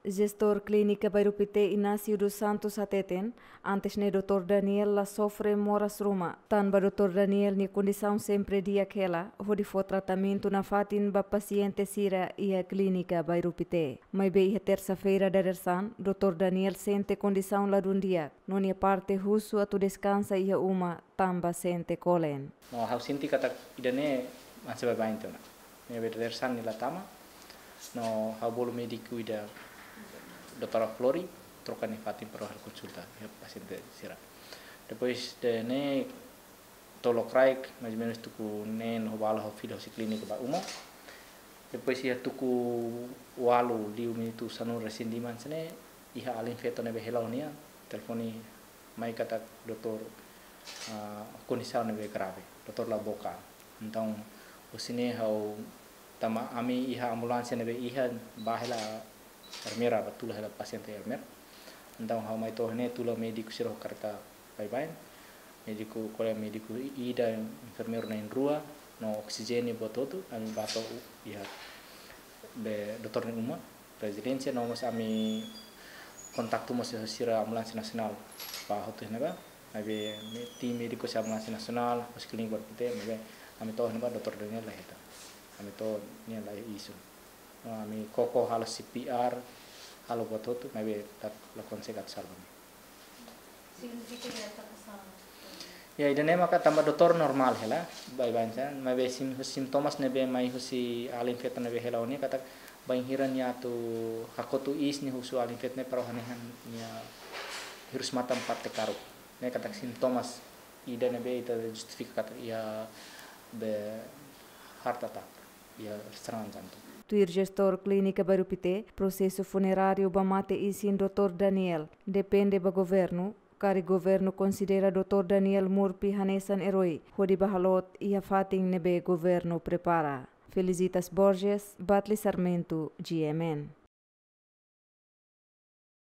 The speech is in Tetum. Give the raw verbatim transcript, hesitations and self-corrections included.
Jestór Klínika Bairru Pité, Inácio dos Santos, hateten, antes ne'e doutór Daniel la sofre moras ruma, tanba doutór Daniel nia kondisaun sempre di'ak hela, hodi fó tratamentu nafatin ba pasiente sira iha Klínika Bairru Pité. Maibé iha tersa-feira dadeer-saan, doutór Daniel sente kondisaun ladún di'ak, no nia parte husu atu deskansa iha uma, tanba sente kolen. No, ha'u sente katak ida-ne'e mansa baibain tiha ona. Ne'ebé dadeer-saan nia la tama. No, ha'u bolu médiku ida, doutora Flori, troka nia fatin para halo konsulta iha pasiente sira. Depois de ne'e, to'o lokraik, mais ou menus tuku neen ho balu ha'u fila hosi klínika ba uma. Depois iha tuku ualu liu minutu sanulu resin lima hanesan ne'e, iha alin feto ne'ebé hela ho nia, telefone mai katak doutór, ah, kondisaun ne'ebé grave, doutór la boka. Entaun, husi ne'e ha'u, tanba ami iha ambulánsia ne'ebé iha ba hela ermera, ba tula hela pasiente ermera. Entaun ha'u mai to'o ne'e tula médiku sira ho kareta baibain. Médiku, kolega médiku ida, enfermeiru na'in-rua, no oksijéniu buat hotu, ami ba to'o iha be doutór nia uma, rezidénsia, no mós ami kontaktu mós ho sira ambulánsia nasionál ba hotu ne'ebá. Maibé, me-, tim médiku husi ambulánsia nasionál, husi klínika Bairru Pité, maibé ami to'o ne'ebá doutór Daniel la hetan. Ami to'o nia la iha isun. No, ami koko halo C P R, halo buat hotu, maibé la, la konsege atu salva nia. Signifika nia atu kasar. Ya, ida-ne'e maka tanba doutór normál hela, baibain hanesan, maibé sim-, sintomas ne'ebé mai husi alin feto ne'ebé hela ho nia katak bainhira nia atu hakotu iis nia husu alin feto ne'e para hanehan nia hirus-matan parte karuk. Ne'e katak sintomas ida ne'ebé ita justifika katak iha be heart attack, iha serangan jantung. Tuir jestór Klínika Bairru Pité, prosesu funeráriu ba mate isin doutór Daniel depende ba governu, karik governu konsidera doutór Daniel Murphy hanesan erói, hodi bá halot iha fatin ne'ebé governu prepara. Felicitas Borges, Batli Sarmento, G M N.